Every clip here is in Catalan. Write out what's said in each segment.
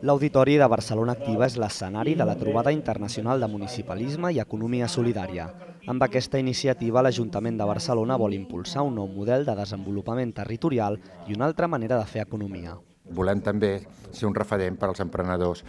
L'Auditori de Barcelona Activa és l'escenari de la trobada internacional de municipalisme i economia solidària. Amb aquesta iniciativa, l'Ajuntament de Barcelona vol impulsar un nou model de desenvolupament territorial i una altra manera de fer economia. Volem també ser un referent per als emprenedors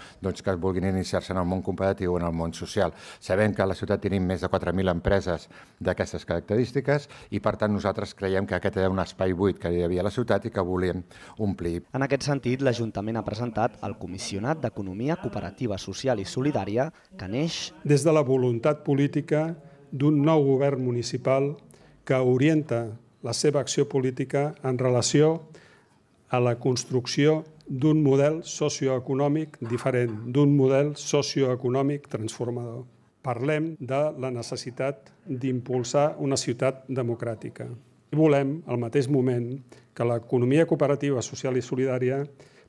que vulguin iniciar-se en el món competitiu o en el món social. Sabem que a la ciutat tenim més de 4.000 empreses d'aquestes característiques i, per tant, nosaltres creiem que aquest era un espai buit que hi havia a la ciutat i que volíem omplir. En aquest sentit, l'Ajuntament ha presentat el Comissionat d'Economia Cooperativa Social i Solidària, que neix des de la voluntat política d'un nou govern municipal que orienta la seva acció política en relació a la construcció d'un model socioeconòmic diferent, d'un model socioeconòmic transformador. Parlem de la necessitat d'impulsar una ciutat democràtica. Volem, al mateix moment, que l'economia cooperativa social i solidària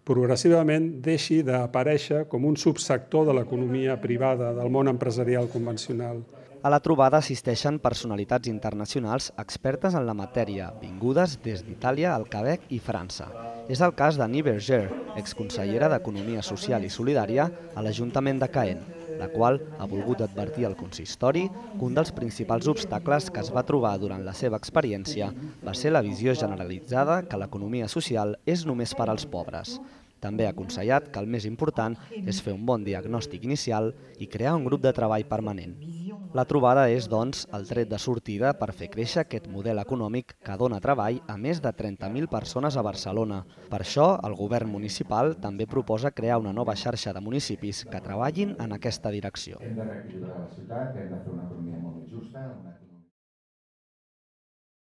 progressivament deixi d'aparèixer com un subsector de l'economia privada, del món empresarial convencional. A la trobada assisteixen personalitats internacionals expertes en la matèria, vingudes des d'Itàlia, el Quebec i França. És el cas d'Annie Berger, exconsellera d'Economia Social i Solidària a l'Ajuntament de Caen, la qual ha volgut advertir al consistori que un dels principals obstacles que es va trobar durant la seva experiència va ser la visió generalitzada que l'economia social és només per als pobres. També ha aconsellat que el més important és fer un bon diagnòstic inicial i crear un grup de treball permanent. La trobada és, doncs, el tret de sortida per fer créixer aquest model econòmic que dona treball a més de 30.000 persones a Barcelona. Per això, el govern municipal també proposa crear una nova xarxa de municipis que treballin en aquesta direcció. Hem de reequilibrar la ciutat, hem de fer una economia